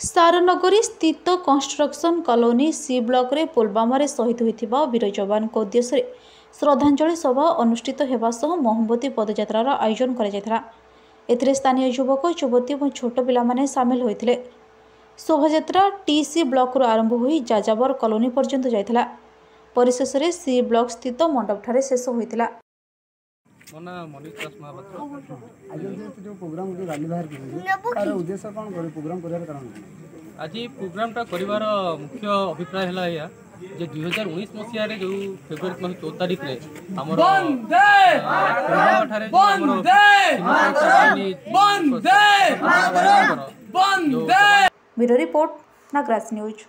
ସାରନଗରୀ ସ୍ଥିତ construction colony C ବ୍ଲକରେ ପୁଲୱାମାରେ ଶହୀଦ ହୋଇଥିବା ବୀର ଯବାନଙ୍କ ଉଦ୍ଦେଶ୍ୟରେ ଶ୍ରଦ୍ଧାଞ୍ଜଳି ସଭା ଅନୁଷ୍ଠିତ ହେବା ସହ ମହମବତୀ ପଦଯାତ୍ରାର ଆୟୋଜନ କରାଯାଇଥିଲା। ଏଥିରେ ସ୍ଥାନୀୟ ଯୁବକ, ଯୁବତୀ ଏବଂ ଛୋଟ ପିଲାମାନେ ସାମିଲ ହୋଇଥିଲେ। ଶୋଭାଯାତ୍ରା ଟିସି ବ୍ଲକରୁ ଆରମ୍ଭ ହୋଇ ଯାଯାବର କଲୋନୀ ପର୍ଯ୍ୟନ୍ତ ଯାଇଥିଲା। ପରିଶେଷରେ ସି ବ୍ଲକ ସ୍ଥିତ ମଣ୍ଡପଠାରେ ଶେଷ ହୋଇଥିଲା। ମୋ ନାଁ ମନୀଷ ଦାସ ମହାପାତ୍ର। ଆଜି ଯେଉଁ ପ୍ରୋଗ୍ରାମ, ଯେଉଁ ରାଲି ବାହାର କରିଛନ୍ତି, ତାର ଉଦ୍ଦେଶ୍ୟ କ'ଣ? କରି ପ୍ରୋଗ୍ରାମ କରିବାର କାରଣ କ'ଣ? ଆଜି ପ୍ରୋଗ୍ରାମଟା କରିବାର ମୁଖ୍ୟ ଅଭିପ୍ରାୟ ହେଲା ଏଇଆ ଯେ 2019 ମସିହାରେ ଯେଉଁ ଫେବୃଆରୀ ମାସ 14 ତାରିଖରେ ଆମର ଠାରେ ବ୍ୟୁରୋ ରିପୋର୍ଟ, ନାଗରାଜ ନ୍ୟୁଜ୍।